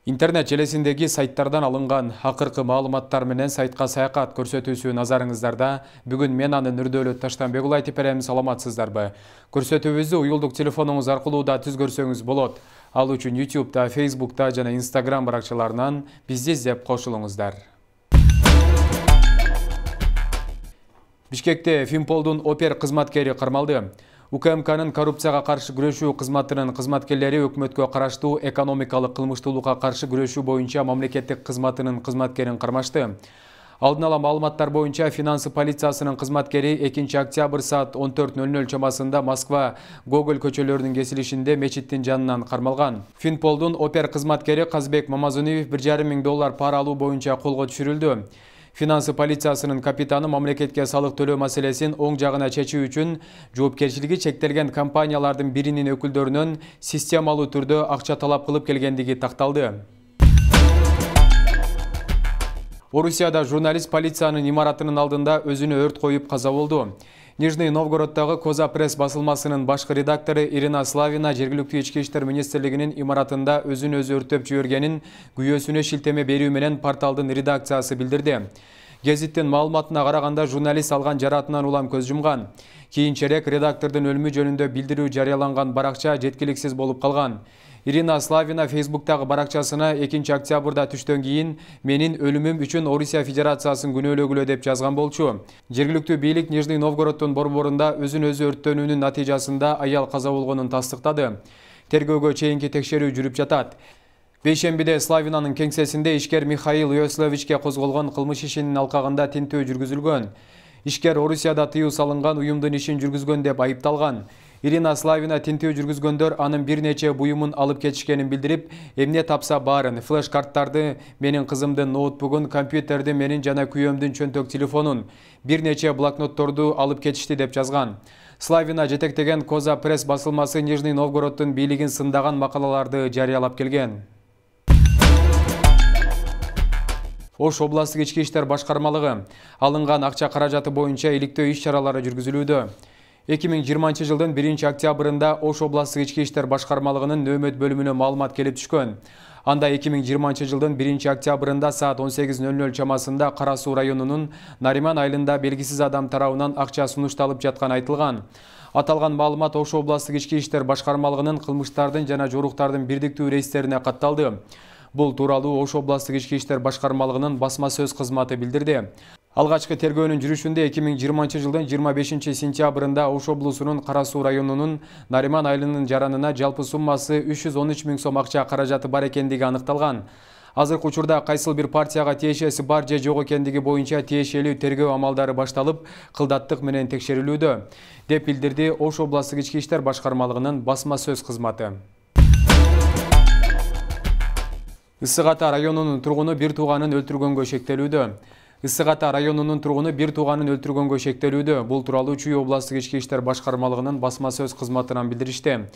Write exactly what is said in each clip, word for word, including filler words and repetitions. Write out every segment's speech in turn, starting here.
Интернет желесиндеги сайттардан алынган акыркы маалыматтар менен сайтка саякат көрсөтүүсү назарыңыздарда. Бүгүн мен анын Нурдөөлөт Таштанбек уулу айтып берем. Саламатсыздарбы? Көрсөтүүбүздү уюлдук телефонуңуз аркылуу да түз көрсөңүз болот. Ал үчүн ютубта, фейсбукта жана инстаграм баракчаларынан бизди издеп кошулуңуздар. Бишкекте Финполдун опер кызматкери кармалды. УКМКнын коррупцияга каршы күрөшүү кызматынын кызматкерлери өкмөткө караштуу экономикалык кылмыштуулукка каршы күрөшүү боюнча мамлекеттик кызматынын кызматкерин кармашты. Алдын ала маалыматтар боюнча финансы полициясынын кызматкери экинчи октябрь саат он төрт ноль ноль чамасында Москва Гоголь көчөлөрүнүн кесилишинде мечиттин жанынан кармалган. Финполдун опер кызматкери Казбек Мамазуниев бир жарым миң доллар пара алуу боюнча колго түшүрүлдү. Финансы полициясынын капитаны мамлекетке салык төлөө маселесин оң жагына чечүү үчүн жоопкерчилиги чектелген компаниялардын биринин өкүлдөрүнөн системалуу түрдө акча талап кылып келгендиги такталды. Орусияда журналист полициянын имаратынын алдында өзүнө өрт коюп каза болду. Нижний Новгороддагы Коза пресс басылмасынын башкы редактору Ирина Славина жергиликтүү ички иштер министрлигинин имаратында өзүн өзү өрттөп жибергенин күйөөсүнө шилтеме берүү менен порталдын редакциясы билдирди. Гезиттин маалыматына караганда журналист алган жаратынан улам көз жумган. Кийинчерээк редактордун өлүмү жөнүндө билдирүү жарыяланган баракча жеткиликсиз болуп калган. Ирина Славина фейсбуктагы баракчасына экинчи октябрда түштөн кийин менин өлүмүм үчүн Орусия Федерациясын күнөөлөгүлө деп жазган болчу. Жергиликтүү бийлик Нижний Новгороддун борборунда өзүн өзү өрттөнүүнүн натыйжасында аял каза болгонун тастыктады. Тергөөгө чейинки текшерүү жүрүп жатат. Бейшембиде Славинанын кеңсесинде ишкер Михаил Йословичке козголгон кылмыш ишинин алкагында тинтөө жүргүзүлгөн. Ишкер Орусияда тыюу салынган уюмдун ишин жүргүзгөн деп айыпталган. Ирина Славина тинтөө жүргүзгөндөр анын бир нече буюмун алып кетишкенин билдирип, эмне тапса баарын, флеш-карттарды, менин кызымдын ноутбугун, компьютерди, менин жана күйөөмдүн чөнтөк телефонун, бир нече блокнотторду алып кетишти деп жазган. Славина жетектеген Коза пресс басылмасы Нижний Новгороддун бийлигин сындаган макалаларды жарыялап келген. Ош областык ички иштер башкармалыгы алынган акча каражаты боюнча иликтөө иш-чаралары жүргүзүлүүдө. эки миң жыйырманчы жылдын биринчи октябрында Ош областык ички иштер башкармалыгынын нөөмөт бөлүмүнө маалымат келип түшкөн. Анда эки миң жыйырманчы жылдын биринчи октябрында саат он сегиз ноль ноль чамасында Кара Суу районунун Нариман айылында белгисиз адам тарабынан акча сунушталып жатканы айтылган. Аталган маалымат Ош областык ички иштер башкармалыгынын кылмыштардын жана жоруктардын бирдиктүү рейстерине катталды. Бул тууралуу Ош областык ички иштер башкармалыгынын басма сөз кызматы билдирди. Алгачкы тергөөнүн жүрүшүндө эки миң жыйырманчы жылдын жыйырма бешинчи сентябрында Ош облусунун Кара Суу районунун Нариман айылынын жаранына жалпы суммасы үч жүз он үч миң сом акча каражаты бар экендиги аныкталган. Азыркы учурда кайсыл бир партияга тиешеси бар же жок экендиги боюнча тиешелүү тергөө амалдары башталып, кылдаттык менен текшерилүүдө, деп билдирди Ош областык ички иштер башкармалыгынын басма сөз кызматы. Ысык Ата районунун тургуну бир тууганын өлтүргөнгө шектелүүдө. Ысык Ата районунун тургуну бир тууганын өлтүргөнгө шектелүүдө. Бул тууралуу Чүй областык ички иштер башкармалыгынын басма сөз кызматынан билдиришти.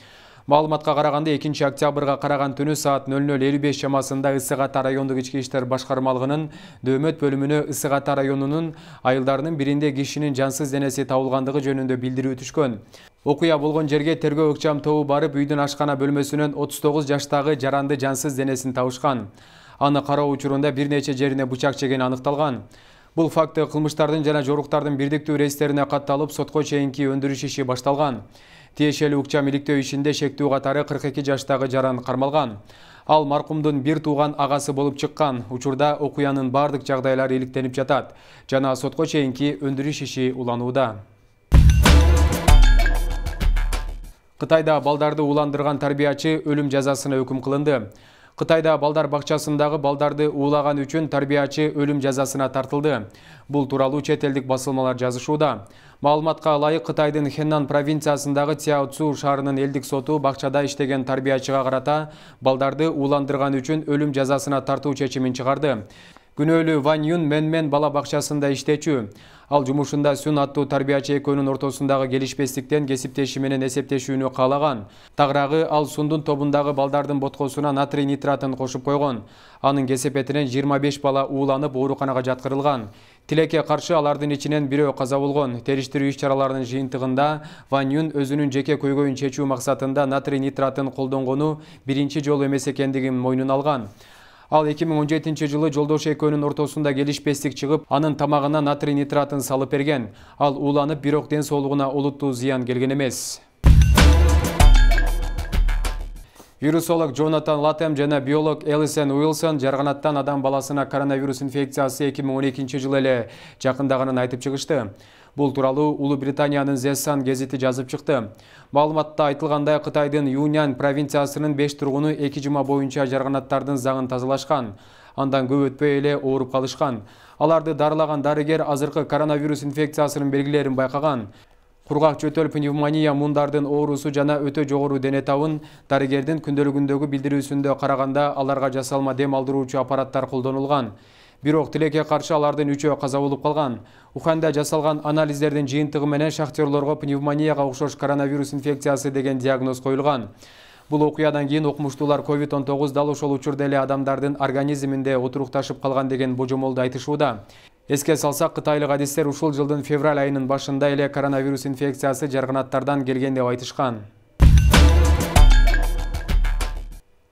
Маалыматка караганда экинчи октябрга караган түнү саат ноль ноль элүү беш чамасында Ысык Ата райондук ички иштер башкармалыгынын нөөмөт бөлүмүнө Ысык Ата районунун айылдарынын биринде кишинин жансыз денеси табылгандыгы жөнүндө билдирүү түшкөн. Окуя болгон жерге тергөө ыкчам тобу барып, үйдүн ашкана бөлмөсүнөн отуз тогуз жаштагы жаранды жансыз денесин табышкан. Аны кароо учурунда бир нече жерине бычак жегени аныкталган. Бул факты кылмыштардын жана жоруктардын бирдиктүү рейстерине катталып, сотко чейинки өндүрүш иши башталган. Тиешелүү ыкчам иликтөө ишинде шектүү катары кырк эки жаштагы жаран кармалган. Ал маркумдун бир тууган агасы болуп чыккан. Учурда окуянын бардык жагдайлары иликтенип жатат жана сотко чейинки өндүрүш иши уланууда. Кытайда балдарды ууландырган тарбиячы өлүм жазасына өкүм кылынды. Кытайда балдар бакчасындагы балдарды уулаган үчүн тарбиячы өлүм жазасына тартылды. Бул тууралуу чет элдик басылмалар жазышууда. Маалыматка ылайык, Кытайдын Хеннан провинциясындагы Цяоцу шаарынын элдик соту бакчада иштеген тарбиячыга карата балдарды ууландырган үчүн өлүм жазасына тартуу чечимин чыгарды. Күнөөлүү Ван Юн Менмен бала бакчасында иштечү. Ал жумушунда Сүн аттуу тарбиячы экөөнүн ортосундагы келишпестиктен кесиптеши менен эсептешүүнү каалаган. Тагыраагы ал Сундун тобундагы балдардын боткосуна натрий нитратын кошуп койгон. Анын кесепетинен жыйырма беш бала ууланып ооруканага жаткырылган. Тилекке каршы алардын ичинен бирөө каза болгон. Териштирүү иш-чараларынын жыйынтыгында Ван Юн өзүнүн жеке көйгөйүн чечүү максатында натрий нитратын колдонгону биринчи жолу эмес экендигин мойнуна алган. Ал эки миң он жетинчи жылы жолдош экөөнүн ортосунда келишпестик чыгып, анын тамагына натрий нитратын салып берген. Ал ууланып, бирок ден соолугуна олуттуу зыян келген эмес. Вирусолог Джонатан Латем жана биолог Элисен Уилсон жарганаттан адам баласына коронавирус инфекциясы эки миң он экинчи жылы эле жакындагынын айтып чыгышты. Бул тууралуу Улуу Британиянын The Sun гезити жазып чыкты. Маалыматта айтылгандай, Кытайдын Юньнань провинциясынын беш тургуну эки жума боюнча жарганаттардын загын тазалашкан. Андан көп өтпөй эле ооруп калышкан. Аларды дарылаган дарыгер азыркы коронавирус инфекциясынын белгилерин байкаган. Кургак жөтөл пневмония мундардын оорусу жана өтө жогору дене табын дарыгердин күндөлүгүндөгү билдирүүсүндө караганда аларга жасалма дем алдыруучу аппараттар колдонулган. Бирок тилекке каршы алардын үчөө каза болуп калган. Уханда жасалган анализдердин жыйынтыгы менен шахтерлорго пневмонияга окшош коронавирус инфекциясы деген диагноз коюлган. Бул окуядан кийин окумуштуулар ковид он тогуз дал ошол учурда эле адамдардын организминде отурукташып калган деген божомолду айтышууда. Эске салсак, кытайлык адистер ушул жылдын февраль айынын башында эле коронавирус инфекциясы жарганаттардан келген деп айтышкан.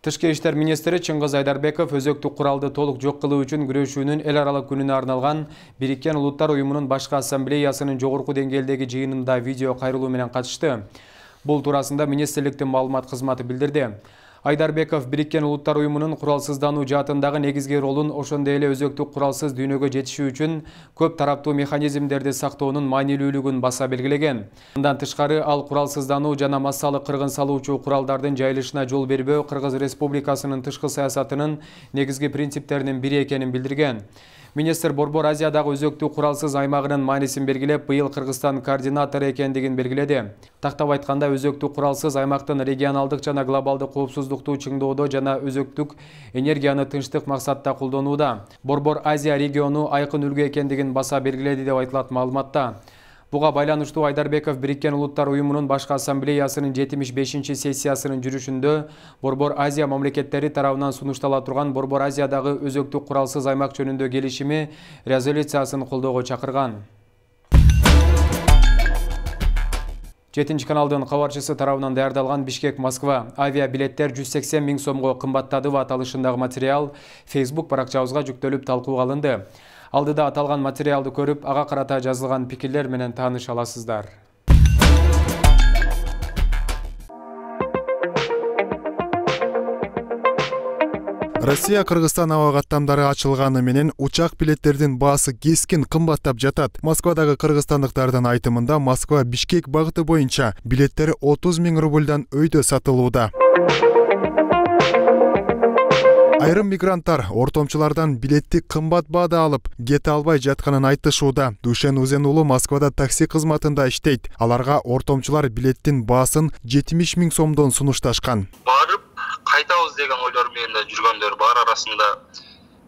Тышкы иштер министри Чыңгыз Айдарбеков өзөктүк куралды толук жок кылуу үчүн күрөшүүнүн эл аралык күнүнө арналган Бириккен Улуттар уюмунун башкы ассамблеясынын жогорку деңгээлдеги жыйынында видео кайрылуу менен катышты. Бул туурасында министрликтин маалымат кызматы билдирди. Айдарбеков Бириккен Улуттар уюмунун куралсыздануу жаатындагы негизги ролун ошондой эле өзөктүк куралсыз дүйнөгө жетишүү үчүн көп тараптуу механизмдерди сактоонун маанилүүлүгүн баса белгилеген. Мындан тышкары ал куралсыздануу жана массалык кыргын салуучу куралдардын жайылышына жол бербөө Кыргыз Республикасынын тышкы саясатынын негизги принциптеринин бири экенин билдирген. Министр Борбор Азиядагы өзөктүк куралсыз аймагынын маанисин белгилеп, быйыл Кыргызстан координатору экендигин белгиледи. Тактап айтканда, өзөктүк куралсыз аймактын регионалдык жана глобалдык коопсуздукту чыңдоодо жана өзөктүк энергияны тынчтык максатта колдонууда. Борбор Азия региону айкын үлгү экендигин баса белгиледи деп айтылат маалыматта. Буга байланыштуу Айдарбеков Бириккен Улуттар уюмунун башкы ассамблеясынын жетимиш бешинчи сессиясынын жүрүшүндө Борбор Азия мамлекеттери тарабынан сунуштала турган Борбор Азиядагы өзөктүк куралсыз аймак жөнүндө келишими резолюциясын колдоого чакырган. жетинчи каналдын кабарчысы тарабынан даярдалган Бишкек-Москва авиабилеттер жүз сексен миң сомго кымбаттады аталышындагы материал Facebook баракчабызга жүктөлүп талкууга алынды. Алдыда аталган материалды көрүп, ага карата жазылган пикирлер менен тааныша аласыздар. Россия Кыргызстан аба каттамдары ачылганы менен учак билеттердин баасы кескин кымбаттап жатат. Москвадагы кыргызстандыктардын айтымында Москва Бишкек багыты боюнча билеттер отуз миң рубльдан өйдө сатылууда. Айрым мигранттар ортомчулардан билетти кымбат баада алып, кете албай жатканын айтышууда. Душен Узен уулу Москвада такси кызматында иштейт. Аларга ортомчулар билеттин баасын жетимиш миң сомдон сунушташкан. Барып кайтабыз деген ойлор менен жүргөндөр бар, арасында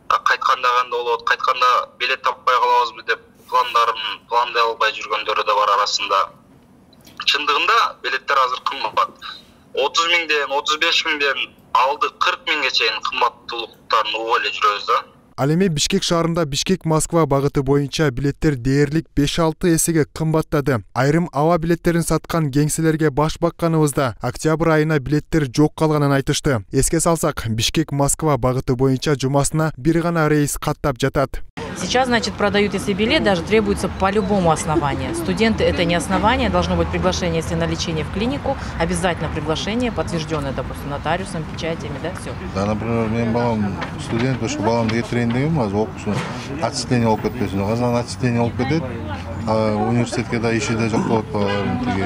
кайтканда кандай болот, кайтканда билет таппай калабызбы деп пландарын пландай албай жүргөндөр да бар арасында. Чындыгында билеттер азыр кымбат. отуз миңден отуз беш миңден алды кырк миңге чейин кымбаттуулуктарын угуп эле жүрөбүз да. Ал эми Бишкек шаарында Бишкек-Москва багыты боюнча билеттер дээрлик беш алты эсеге кымбаттады. Айрым аба билеттерин саткан кеңселерге баш бакканыбызда октябрь айына билеттер жок калганын айтышты. Эске салсак, Бишкек-Москва багыты боюнча жумасына бир гана рейс каттап жатат. Сейчас, значит, продают, если билет, даже требуется по любому основанию. Студенты — это не основание, должно быть приглашение, если на лечение в клинику, обязательно приглашение, подтвержденное, допустим, нотариусом, печатями, да, все. Да, например, мен балам студент, ошо баламды кетирейин дегем, азыр окуусун отчисление болуп кетпесин. Казан отчисление болуп кетет, университетке да иши да жок болот тиги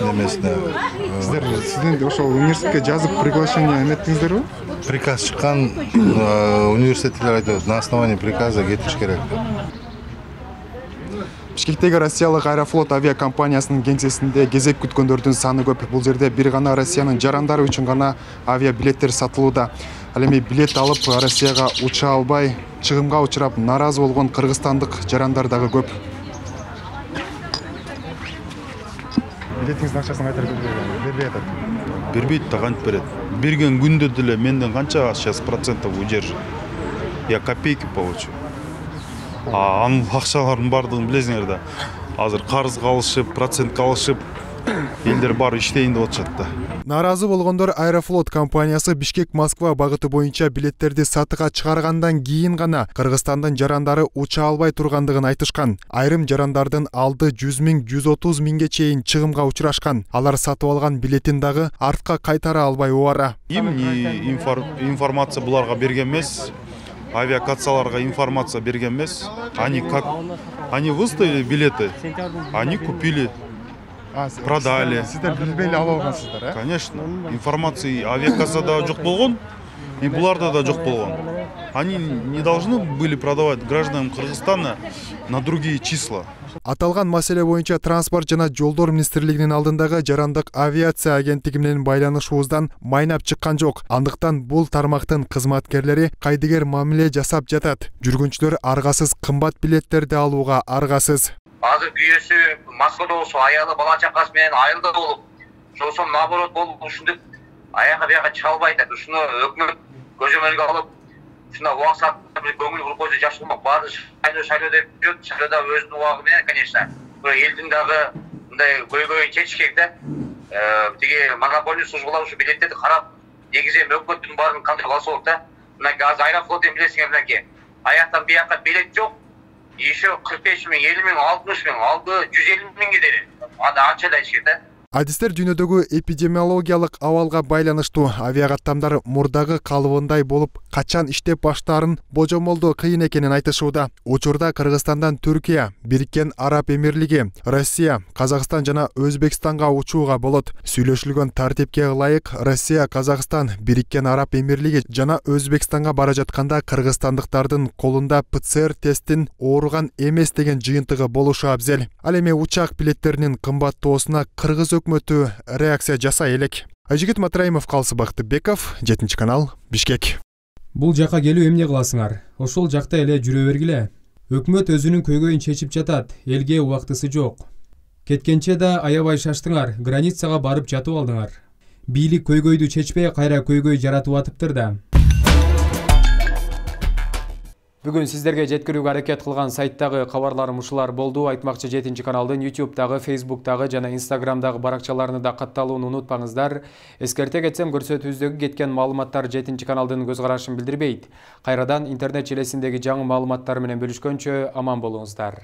немесине. Сиздер студент ошол университетке жазып приглашение эметтиңиздерби? Приказ чыккан, университеттер айтат, на основании приказа кетиш керек. Бишкектеги Россиялык Аэрофлот авиакомпаниясынын кеңсесинде кезек күткөндөрдүн саны көп. Бул жерде бир гана Россиянын жарандары үчүн гана авиабилеттер сатылууда. Ал эми билет алып Россияга уча албай, чыгымга учурап наразы болгон кыргызстандык жарандар дагы көп. Билетиңиздин акчасын кайтарып бербей атат. Бербейт да, кантип берет. Берген күндө деле менден канча сейчас процентов удержит. Я копейки получу. А анын акчалардын бардыгын билесиңер да. Азыр карызга алышып, процентке алышып, элдер баары иштейин деп атышат да. Наразы болгондор Аэрофлот компаниясы Бишкек-Москва багыты боюнча билеттерди сатыга чыгаргандан кийин гана Кыргызстандын жарандары уча албай тургандыгын айтышкан. Айрым жарандардын алды жүз миң жүз отуз миңге чейин чыгымга учурашкан. Алар сатып алган билетин дагы артка кайтара албай убара. Эмне информация буларга берген эмес, авиакассаларга информация берген эмес. Они как они выставили билеты, они купили, продали. Сиздер билбей эле алып алгансыздар, э? Конечно. Информация авиакассада жок болгон, и буларда да жок болгон. Они не должны были продавать гражданам Кыргызстана на другие числа. Аталган маселе боюнча Транспорт жана жолдор министрлигинин алдындагы жарандык авиация агенттиги менен байланышуубуздан майнап чыккан жок. Андыктан бул тармактын кызматкерлери кайдыгер мамиле жасап жатат. Жүргүнчүлөр аргасыз кымбат билеттерди алууга аргасыз. Азыр күйөөсү Москвада болсо аялы бала чакасы менен айылда болуп, ошол наоборот болуп ушинтип аяка бияка чыга албай атат. Ушуну өкмөт көзөмөлгө алып, ушуна убак саатта бир көңүл буруп койсо жакшы болмок. Баары шайлоо шайлоо деп жүрөт, шайлоодо өзүнүн убагы менен, конечно. Бирок элдин дагы мындай көйгөйүн чечиш керек да. Тиги монополия службалар ушу билеттерди карап, негизи эми өкмөттүн баарын кантип алса болот да. Мынакей азыр Аэрофлотун билесиңер мынакей. Аяктан бияка билет жок. Еще кырк беш миң, элүү миң, алтымыш миң, алды жүз элүү миңге дейин. Аны анча да ичет да. Адистер дүйнөдөгү эпидемиологиялык абалга байланыштуу. Авиакаттамдар мурдагы калыбындай болуп, качан иштеп баштаарын божомолдоо кыйын экенин айтышууда. Учурда Кыргызстандан Түркия, Бириккен Араб Эмирлиги, Россия, Казакстан жана Өзбекстанга учууга болот. Сүйлөшүлгөн тартипке ылайык Россия, Казакстан, Бириккен Араб Эмирлиги жана Өзбекстанга бара жатканда кыргызстандыктардын колунда ПЦР тесттин ооруган эмес деген жыйынтыгы болушу абзел. Ал эми учак билеттеринин кымбаттоосуна Кыргыз өкмөтү реакция жасай элек. Айжигит Матраимов, Калсы Бактыбеков, жетинчи канал, Бишкек. Бул жака келүү эмне кыласыңар? Ошол жакта эле жүрө бергиле. Өкмөт өзүнүн көйгөйүн чечип жатат, элге убактысы жок. Кеткенче да аябай шаштыңар, границага барып жатып алдыңар. Бийлик көйгөйдү чечпей кайра көйгөй жаратып атыптыр да. Бүгүн сиздерге жеткирүүгө аракет кылган сайттагы кабарларым ушулар болду. Айтмакчы жетинчи каналдын ютубтагы, фейсбуктагы жана инстаграмдагы баракчаларына да катталууну унутпаңыздар. Эскерте кетсем, көрсөтүүбүздөгү кеткен маалыматтар жетинчи каналдын көз карашын билдирбейт. Кайрадан интернет желесиндеги жаңы маалыматтар менен бөлүшкөнчө аман болуңуздар.